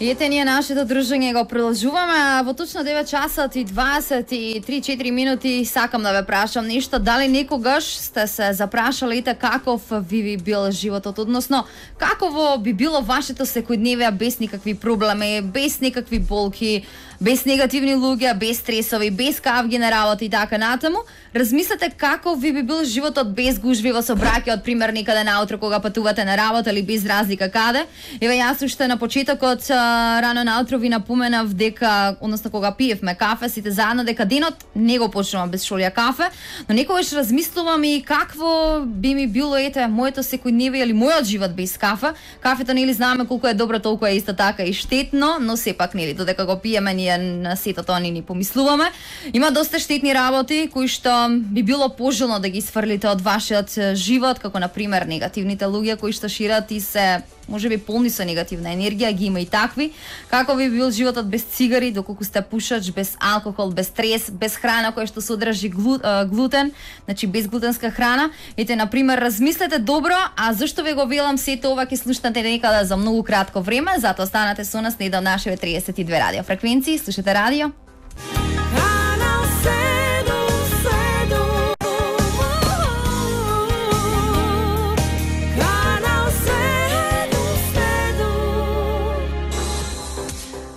Ете, ние нашето дружење го продолжуваме, а во точно 9 часот и 23-4 минути сакам да ве прашам нешто. Дали некогаш сте се запрашале ите каков би бил животот, односно каково би било вашето секојдневие без никакви проблеми, без никакви болки, без негативни луѓе, без стресови, без кавги на работа и така натаму? Размислете каков би бил животот без гужви во собраќајот, пример некаде наутро кога патувате на работа или без разлика каде. Еве јас уште на почетокот рано наутро ви напоменав дека, односно кога пиевме кафе сите заедно, дека денот не го почнувам без шолја кафе, но некогаш размислувам и какво би ми било ете моето секојдневие или мојот живот без кафе. Кафето нели знаеме колку е добро, толку е исто така и штетно, но сепак нели додека го пиеме ние на сето тоа ни помислуваме. Има доста штетни работи кои што би било пожелно да ги сфрлите од вашиот живот, како на пример негативните луѓе кои што шират и се можеби полни со негативна енергија, ги има и такви. Како би бил животот без цигари, доколку сте пушач, без алкохол, без стрес, без храна која што содржи глутен, значи без глутенска храна. Ете, на пример, размислете добро, а зашто ве го велам сето ова ќе слушнете некада за многу кратко време, затоа останете со нас на една од нашите 32 радио фреквенции, слушате радио.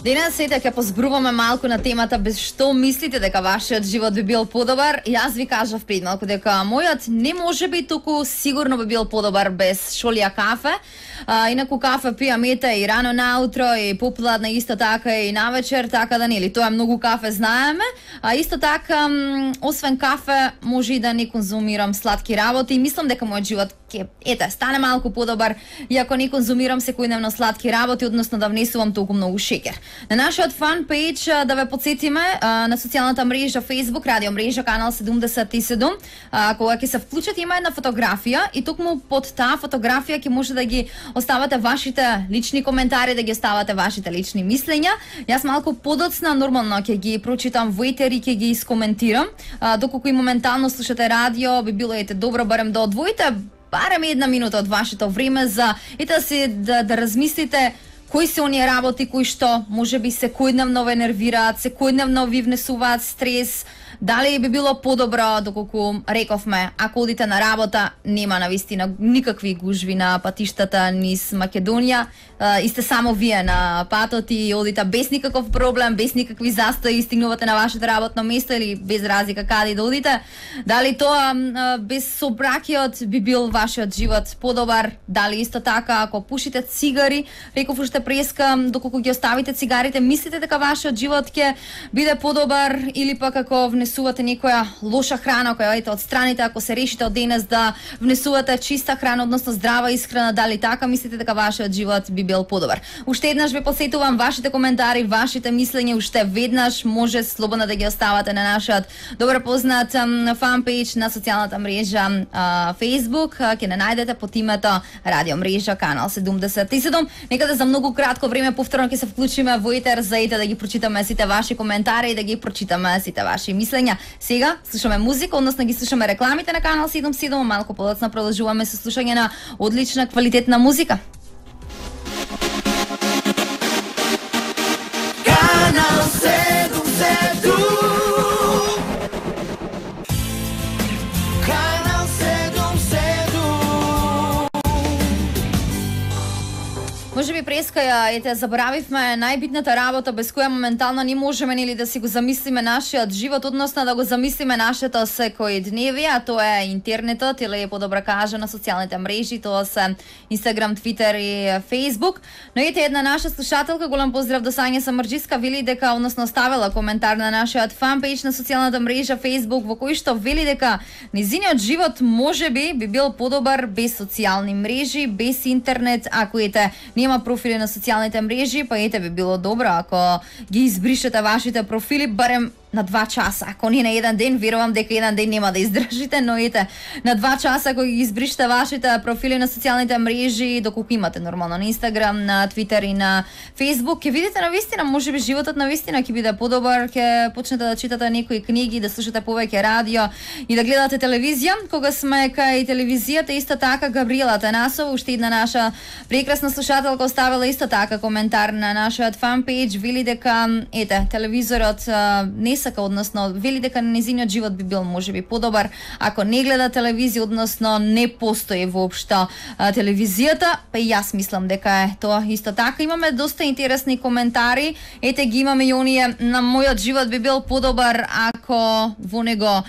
Денес сета ќе позбруваме малку на темата без што мислите дека вашиот живот би бил подобар. Јас ви кажав пред малку дека мојот не може би туку сигурно би бил подобар без шолја кафе. Инаку кафе пијам ете и рано наутро и попладна исто така и навечер, така да нели тоа е многу кафе знаеме. А исто така освен кафе може и да не конзумирам сладки работи и мислам дека мојот живот ќе ете стане малку подобар и ако не конзумирам секојдневно сладки работи, односно да внесувам толку многу шеќер. На нашиот фан пејдж да ве потсетиме на социјалната мрежа Facebook, радио мрежа канал 77, кога ќе се вклучат има една фотографија и токму под таа фотографија ќе може да ги оставате вашите лични коментари, да ги оставате вашите лични мислења. Јас малку подоцна нормално ќе ги прочитам во етер и ќе ги искоментирам. Доколку и моментално слушате радио, би било ете добро барем да одвоите барем една минута од вашето време за ете да размислите кои се оние работи кои што можеби секојдневно ве нервираат, секојдневно ви внесуваат стрес. Дали би било подобро, доколку рековме, ако одите на работа, нема навистина никакви гужви на патиштата низ Македонија, и сте само вие на патот и одите без никаков проблем, без никакви застои, стигнувате на вашето работно место или без разлика каде да одите. Дали тоа без собраќајот би бил вашиот живот подобар? Дали исто така ако пушите цигари, реков уште преска, доколку ги оставите цигарите, мислите дека вашиот живот ќе биде подобар или пак ако внесувате некоја лоша храна која ете отстраните, ако се решите од денес да внесувате чиста храна, односно здрава исхрана, дали така мислите дека вашиот живот би бил подобар? Уште еднаш ве посетувам вашите коментари, вашите мислења, уште веднаш може слободно да ги оставате на нашиот добро познат фан пејдж на социјалната мрежа Facebook, ќе не најдете под името радио мрежа канал 77. Некаде за многу кратко време повторно ќе се вклучиме во етер за ете да ги прочитаме сите ваши коментари и да ги прочитаме сите ваши мислења. Сега слушаме музика, односно ги слушаме рекламите на канал 77, малку подоцна продолжуваме со слушање на одлична квалитетна музика. Канал 77. Канал 77. Може би преска ја ете заборавивме најбитната работа без која моментално не можеме нели да си го замислиме нашиот живот, односно да го замислиме нашето секојдневие, а тоа е интернетот или подобро кажано социјалните мрежи, тоа се Instagram, Twitter и Facebook. Но ете една наша слушателка, голем поздрав до Сања Самарџиска, вели дека односно ставила коментар на нашиот фан пејдж на социјалната мрежа Facebook во кој што вели дека низиниот живот можеби би бил подобар без социјални мрежи, без интернет, ако ете нема профили на социјалните мрежи, па ете би било добро ако ги избришете вашите профили, барем на 2 часа. Ако не на еден ден, верувам дека еден ден нема да издржите, но ете, на 2 часа ако ги избриште вашите профили на социјалните мрежи, доколку имате нормално на Инстаграм, на Твитер и на Фејсбук, ќе видите навистина, можеби животот навистина ќе биде подобар, ќе почнете да читате некои книги, да слушате повеќе радио и да гледате телевизија. Кога сме кај телевизијата, исто така Габриела Танасова, уште една наша прекрасна слушателка, оставила исто така коментар на нашиот фан-пејдж, вели дека ете, телевизорот не сака, односно вели дека незиниот живот би бил можеби подобар ако не гледа телевизија, односно не постои воопшто телевизијата, па и јас мислам дека е тоа исто така. Имаме доста интересни коментари, ете ги имаме и оние: на мојот живот би бил подобар ако во него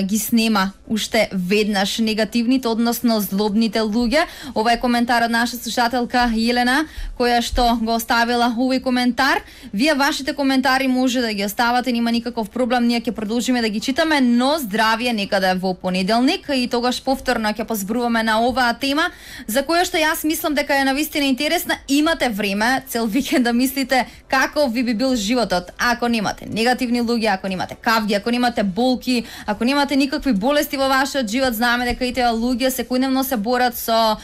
ги снема уште веднаш негативните, односно злобните луѓе. Ова е коментар од наша слушателка Елена, која што го оставила овој коментар. Вие вашите коментари може да ги оставате, нема никаков проблем, ние ќе продолжиме да ги читаме, но здравје некаде во понеделник и тогаш повторно ќе позбруваме на оваа тема, за која што јас мислам дека е навистина интересна. Имате време цел викенд да мислите како ви би бил животот ако немате негативни луѓе, ако немате кавги, ако немате болки, ако немате никакви болести во вашиот живот. Знаеме дека и тие луѓе секојдневно се борат со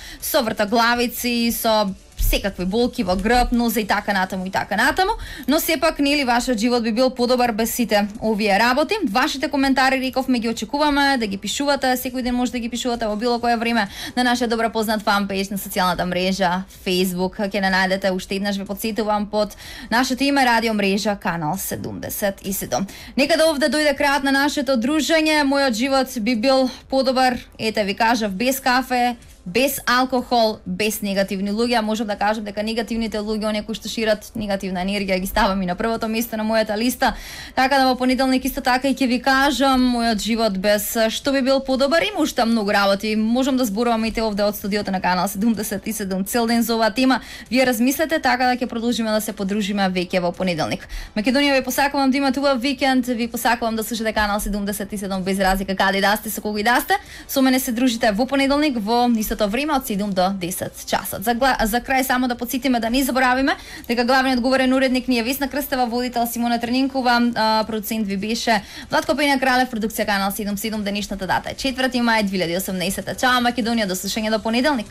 вртоглавици, со секакви болки во грб, ноза и така натаму и така натаму, но сепак нели вашиот живот би бил подобар без сите овие работи. Вашите коментари, рековме, ги очекуваме да ги пишувате, секој ден може да ги пишувате во било кое време на нашиот добро познат фан-пејдж на социјалната мрежа Facebook. Ќе не најдете, уште еднаш ве потсетувам, под нашето име Радио мрежа Канал 77. Некаде овде дојде крајот на нашето дружење. Мојот живот би бил подобар, ете ви кажав, без кафе, без алкохол, без негативни луѓе. Можам да кажам дека негативните луѓе, оние кои што шират негативна енергија, ги ставам и на првото место на мојата листа. Така да во понеделник исто така и ќе ви кажам мојот живот без што би бил подобар. Има уште многу работи. Можам да зборувам и те овде од студиото на Канал 77 цел ден за оваа тема. Вие размислете, така да ќе продолжиме да се подружиме веќе во понеделник. Македонија, ви посакувам да имате убав викенд, ви посакувам да слушате Канал 77 без разлика каде да сте, со кого и да сте. Со мене се дружите во понеделник во истото време од 7 до 10 часот. За крај само да потсетиме да не заборавиме дека главниот говорен уредник ни е Весна Крстева, водител Симона Тренинкова, продуцент ви беше Владко Пења Кралев, продукција Канал 77. Денешната дата е 4 мај 2018. Чао Македонија, до слушање до понеделник.